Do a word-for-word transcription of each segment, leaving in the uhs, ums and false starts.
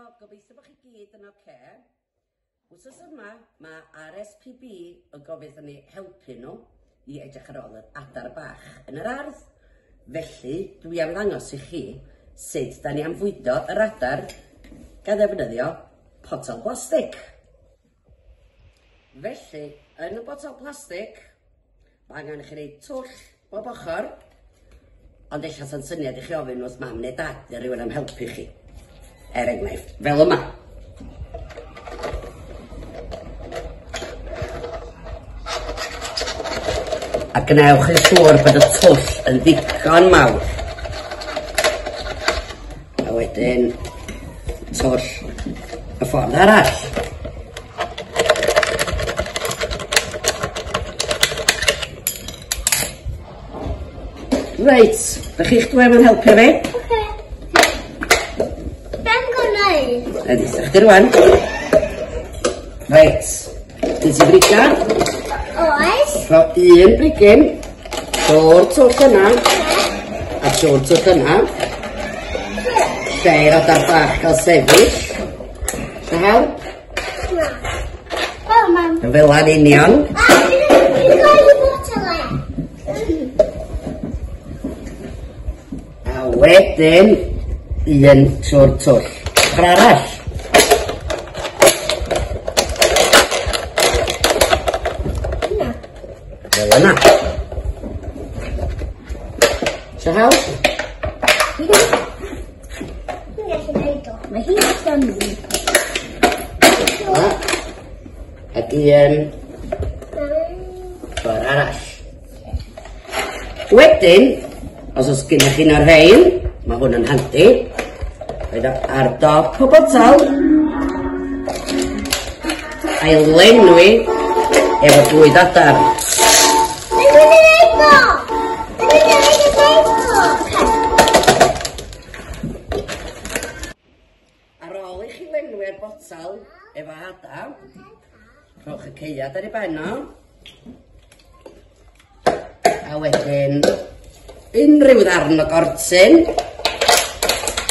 Gobeithio bod chi gyd yn oce. Wsos yma, mae R S P B yn gofyn i ni helpu nhw i edrych ar ôl yr adar bach yn yr ardd. Felly, dwi am ddangos i chi sut da ni am fwydo yr adar gan ddefnyddio potel blastig. Felly, yn y botel plastig, mae angen i chi wneud twll bob ochr, ond ella sa'n syniad i chi ofyn wrth mam neu dad neu rhywun am helpu chi. Er enghraifft, fel yma. A gwnewch yn siŵr bod y twll yn ddigon mawr. A wedyn, twll y ffordd arall. Reit, da chi'ch dwy am helpu fi? Oce. Be am gwneud? Ydy, sa chdi rwan. Reit, dwi ti briga? Oes. Rho un brigyn, trwy'r twll yna, a trwy'r twll yna. Lle i'r adar bach gael sefyll. Isio help? Na. O, mam. Yn fel yna'n union. A, dwi'n gael i botel e. A wedyn, un trwy'r twll. Ochr arall. Fel yna. Isio help? Dwi'n gallu neud o. Mae hi'n llynnu. Ac un ffordd arall. Wedyn, os oes gennych chi'n o'r rhain, mae hwn yn handi, rhaid o ar dop o botel, a'i lenwi efo bwyd adar. Dwi'n mynd i neud o! Dwi'n mynd i neud o! Ar ôl i chi lenwi'r botel efo adar, rhowch y caead ar ei ben o, a wedyn unrhyw ddarn o gortyn,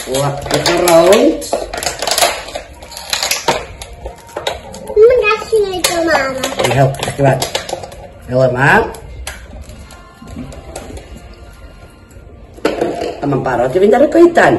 lapiwch o rownd. Dwi'n gallu neud o, mama. Dwi'n helpu chdi wan. Fel yma. A mae'n barod i fynd ar y goedan.